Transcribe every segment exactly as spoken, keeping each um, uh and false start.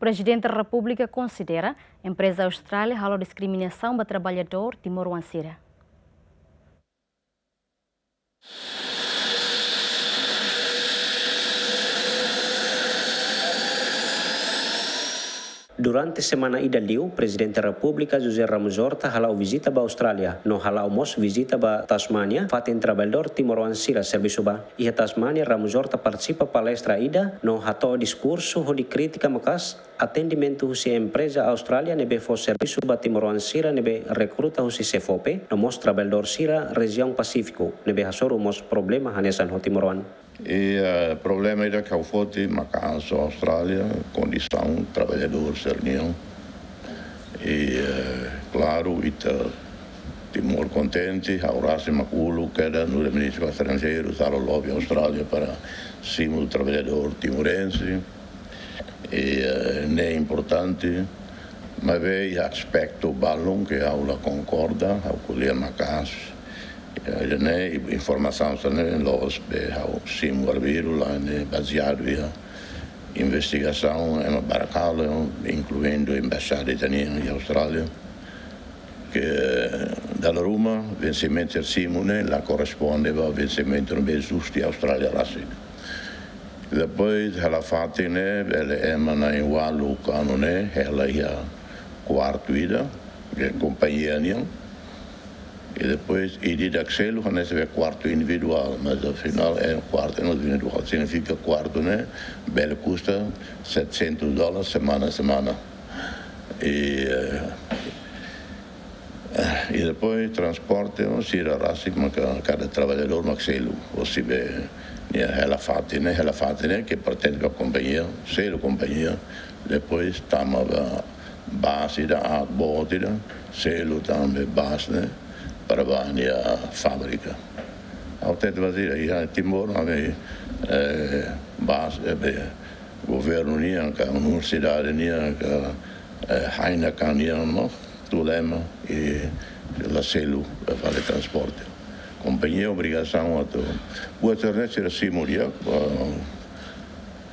Prezidente Repúblika konsidera empreza Austrália halo diskriminasaun ba traballadór timoroan sira. Durante semana ida liu, Prezidente Repúblika José Ramos Horta hala'o vizita ba Austrália, no hala'o mós vizita ba Tasmania, fatin traballadór timoroan sira servisu ba. Iha Tasmania, Ramos Horta partisipa palestra ida, no hato'o diskursu hodi kritika maka'as atendimentu husi empreza Austrália ne'ebé fó servisu ba timoroan sira ne'ebé rekruta husi SEFOPE, no mós traballadór sira rejiaun Pasífiku, ne'ebé hasoru mós problema hanesan ho timoroan. I, eh, problema ida ke ha'u foti maka'as Austrália, kondisaun traballadór sira-nian. I, eh, klaru, ita Timor kontente, ha'u rasik mak uluk kedas nu'udar Ministru Estranjeiru, halo lobby Austrália para simu traballadór timorense. I, eh, ne'e importante, maibé iha aspetu balun ke ha'u la konkorda, ha'u ko'alia maka'as. Eh, ne'e informasaun sira-ne'e loos be ha'u simu arbiru, la ne'e bazeadu iha investigasaun ema barak halo, inkluindu embaixada ita-nian iha Austrália, ke dala ruma vensimentu sira simu ne'e la korresponde ba vensimentu ne'ebé justu iha Austrália rasik. Depois, hela fatin ne'e, bele ema na'in ualu ka neen ne'e, hela iha kuartu ida, ke kompañia nian. I depois, ida-idak selu, hanesan be kuartu individuál, mas afinál é kuartu individuál. Signifika kuartu ne'e, bele kusta setecentos dólares semana, semana. I, eh, Eh, i depois transporte, no, sira rasik maka kada traballadór mak selu, ou se be, nia hela fatin ne'e, hela fatin ne'e ke pertense ba kompañia, selu kompañia, depois tama ba bus ida, ah, boot ida, selu tan be bus ne'e, para ba nia fábrika. Ha'u hatete ba sira, iha Timor, ami, eh, bus, eh, be, governu nian, ka universidade nian, ka, eh, Heineken nian, no, tuir ema, i la selu, eh, fali transporte. Kompañia obrigasaun atu, buat sira-ne'e sira simu di'ak, eh,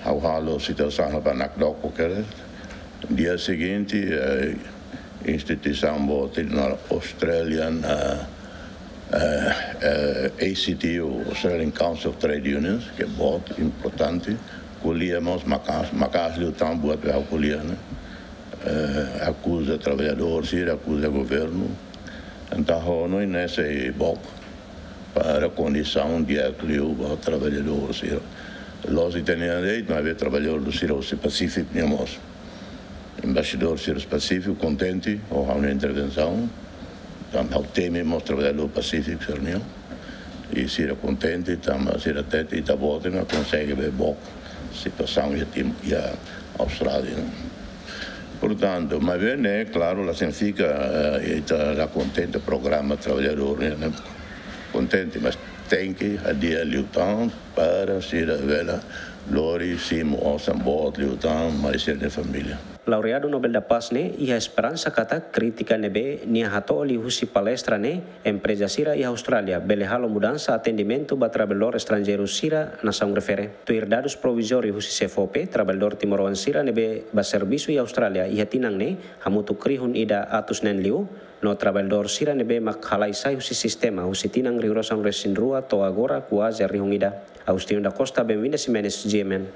ha'u halo situasaun ba nakdoko kedas. Dia seguinte, eh, instituisaun boot ida Australian, eh, eh, eh, A C T U, Australian Council of Trade Unions, ke boot importante, ko'alia mós maka'as, maka'as liután buat be ha'u ko'alia ne'e. Eh, akuza traballadór sira, akuza governu. Entaun, ha'u hanoin ne'e sei book para kondisaun di'ak liu ba traballadór sira. Loos ita-nia lei, maibé traballadór sira husi Pasífiku nian mós. Embaixadór sira Pasífiku kontente ho ha'u-nia intervensaun. Tanba ha'u temi mós traballadór Pasífiku sira-nian. I sira kontente, tanba sira hatete ita-boot ne'e konsege be book situasaun iha Tim-, iha Austrália. Portantu, maibé ne'e, klaru, la signifika, eh, ita la kontente programa traballadór ne'e, ne'e kontente, mas tenke hadi'a liután para sira bele lori simu osan boot liután mai sira-nia família. Laureadu Nobel da Paz ne'e iha esperansa katak krítika ne'ebé nia hato'o liuhusi palestra ne'e, empreza sira iha Austrália bele halo mudansa atendimentu ba traballadór estranjeiru sira nasaun refere. Tuir dadus provizóriu husi SEFOPE, traballadór timoroan sira ne'ebé bá servisu iha Austrália iha tinan ne'e hamutuk rihun ida atus neen liu, no traballadór sira ne'ebé mak halai sai husi sistema husi tinan rihun rua sanulu-resin-rua to'o agora kuaze rihun ida. Agostinho da Costa, Benvinda Ximenes, G M N.